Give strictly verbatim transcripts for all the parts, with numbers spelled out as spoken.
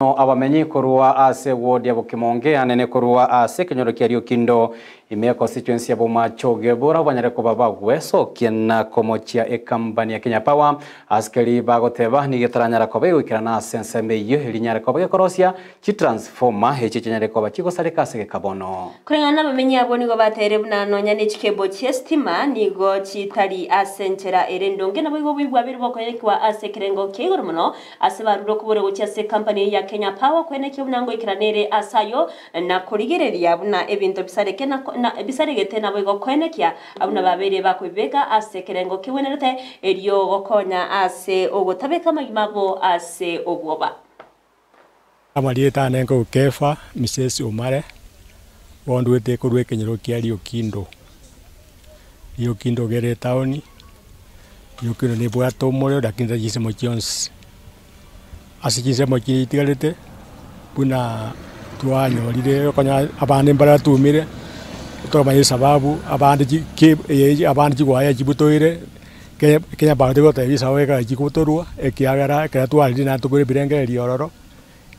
Abamenyi korwa ase ward ya Bokimonge anene korwa ase kenyoro kia Riokindo ime constituency ya Bomachoge bora banyare koba bagwesokia na komochia ekampani ya Kenya Power askeri bagoteba nigetaranyara koba igoikerana ase ensembe eyio erinyare koba gekorosia chitransformer echi chinyare koba chigosareka ase gekabono. Kulingana n'abamenyi abo nigo batere buna nonya n'echikebo chi'esitima nigo chitari ase enchera ere endonge nabo igo bwabire bokoyekiwa ase ekerengo kia igoro mono ase barure okobora gochia ase ekampani ya Kenya Power kwenekia buna ngoikeranere ase ayo na korigereria buna ebinto bisareke na, na bisaregete nabo igo kwenekia abuna babere bakoibeka ase ekerengo kebwenerete erio gokonya ase ogotabeka amagima abo ase obwoba. Amarieta ane nkokefa Mrs Omare bondwete korwa ekenyoro kia Riokindo. Riokindo gere etown, Riokindo nebwate omorero lakini tari chinsemo chionsi. Ase chinsemo chiria itigarete buna twanyorire okonya abande mbaratumire, toramanya esababu abande chi ki eye abande chigwaya chibutoire Kenya Kenya Power tegotebia esababu ekero chikobutorwa ekiagera ekero twarire naende tokore ebirengererio ororo,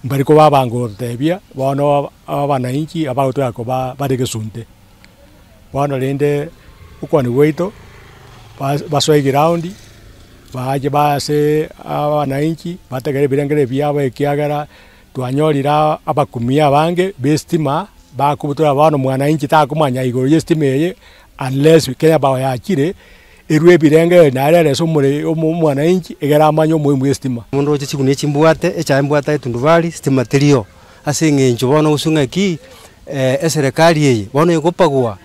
mbari koba gototebia bono abananchi abagotwara koba bare gesunte. Bono rende okwania gwaito bas basoe eground bache baase abananchi bategere ebirengererio biabo ekiagera twanyorire abakumia abange ba estima bakobutora bono mwananchi takomanya igoro ya estima eye unless Kenya Power yachire erwe ebirengererio naende erese omore omo omwananchi egere amanye omohimu bwa estima. Mundu oche chigunia chimbwate echae mbwate etundubari stima terio ase eng'encho bono gose ng'aki eserekari eye bono egopagwa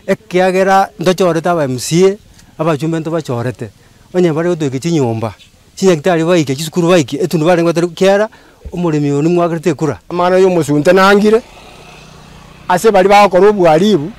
ekiagera ntochorete aba M C A abachumbe ntobachorete onye bare gotoika chinyomba chinyagitari baike chisukuru baike etundubari ngotere kiara omoremi oyo nimwakerete ekura. Amang'ana ya omosunte nangire ase baria bagokora obwaribu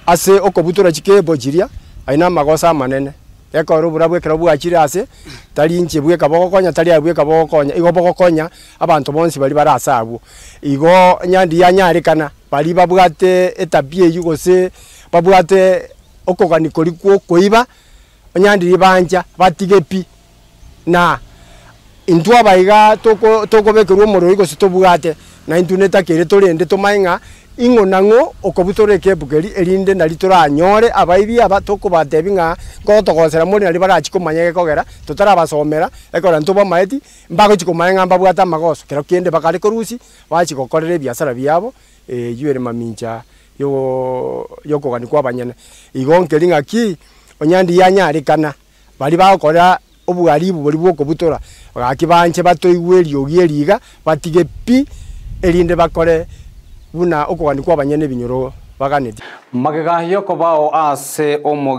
ase okobutora chikebo chiria aye na amagoso amanene ekero oborabu ekero bwachire ase tari inche bweka bogokonya tari aye bweka bogokonya igo bogokonya abanto bonsi baria bare ase abwo. Igo nyandi yanyarekana baria babwate etabia eywo gose babwate okogani koria kwa okoiba onyandiri bancha batige pi na intwe abaiga toko tokobekerwa omorero gose tobwate na intwe netakere torende tomanye ng'a ing'o na ng'o okobutora ekebu keria erinde nari toranyore abaibi aba tokobatebi ng'a nkotogosera more nari barachi komanya gekogera totarabasomera ekero ntobamaeti mbagochi komanya ng'a mbabwate amagoso kero kende bakare korusia bachi gokorera ebiasara biabo eywo ere mamincha yooo yokogania kwa abanyene. Igo nkeri ng'aki onyandi yanyarekana baria bagokora obwaribu boria bwa okobutora gaki banche batoigwe eriogi eriga batige pi erinde bakore buna okogania kwa abanyene ebinyoro baganeti. Magega yokobao ase omo.